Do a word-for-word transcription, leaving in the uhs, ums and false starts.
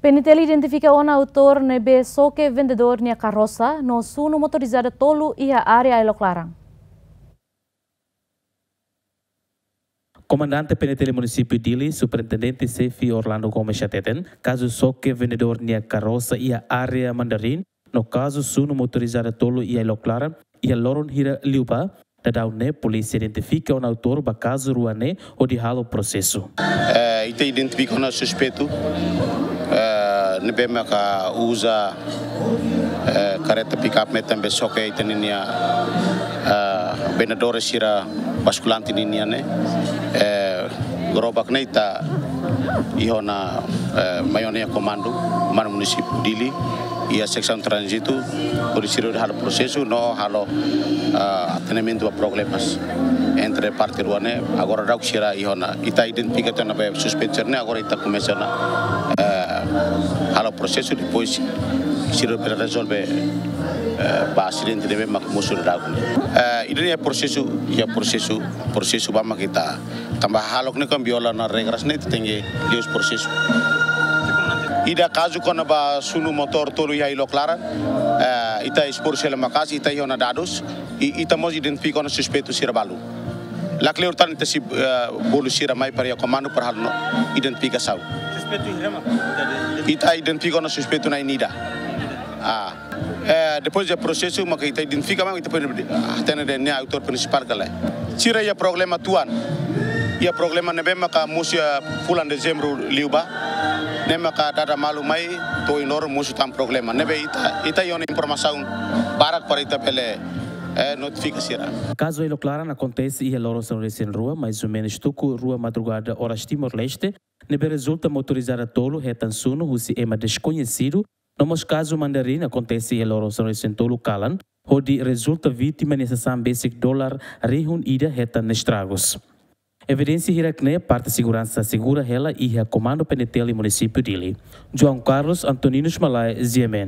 PNTL identifika ona autór ne'ebé xoke vendedór nia karrosa no sunu motorizada tolu iha área Ailok Laran. Komandante PNTL Munisípiu Dili, Superintendente Xefe Orlando Gomes hateten, kazu xoke vendedór nia karrosa iha área Mandarin, no kazu sunu motorizada tolu iha Ailok Laran, iha loron hira liubá, daudaun ne'e polísia identifika ona autór ba kazu rua ne'e hodi halo prosesu. Eh, ita identifika ona suspeitu, eh, ne'ebé maka uza, eh, karreta pick-up metan be xoke ita ninia, eh, vendedór sira baskulante ninia ne'e. Eh, gerobak ne'e ita iha ona, eh, mai ona iha komandu, Komandu Munisípiu Dili, iha seksaun tránzitu, hodi sira hodi halo prosesu no halo, eh, atendimentu ba problemas entre parte rua ne'e. Agora daudaun sira iha ona, ita identifika tiha ona be suspeitu sira ne'e, agora ita komesa ona, eh, halo prosesu, depois sira bele rezolve, eh, ba asidente ne'ebé mak mosu daudaun ne'e. Eh, ida-ne'e prosesu, iha prosesu, prosesu ba mak ita tanba hahalok ne'e kan viola ona regras ne'e, ita tenke liu prosesu. Ida kazu kona-ba sunu motór tolu iha Ailok Laran, eh, ita espor sira maka'as, ita iha ona dadus, i ita mós identifika ona suspeitu sira balu. Lakleur tan ita sei, eh, bolu sira mai para iha komandu para halo ona identifikasaun. Suspeitu hira mak? Ita identifika ona suspeitu na'in ida. Ah. Eh, depois de prosesu, maka ita identifika mak ita pode hatene dehan ne'e autór prinsipál ka lae. Sira iha problema tuan. Iha problema ne'ebé maka mosu iha fulan Dezembru liubá. Ne'e maka dada malu mai, to'o ohin loron mosu tan problema. Ne'ebé ita, ita iha ona informasaun barak para ita bele, eh, notifika sira. Kazu Ailok Laran akontese iha loron sanulu-resin-rua, mais ou menus tuku rua madrugada oras Timor-Leste, ne'ebé rezulta motorizada tolu hetan sunu husi ema deskoñesidu, no mós kazu Mandarin akontese iha loron sanulu-resin-tolu kalan, hodi rezulta vítima nia sasán besik dolar rihun ida hetan estragus. Evidénsia hirak-ne'e parte seguransa asegura hela iha Komandu PNTL Munisípiu Dili. João Carlos Antoninus Malae, G M N.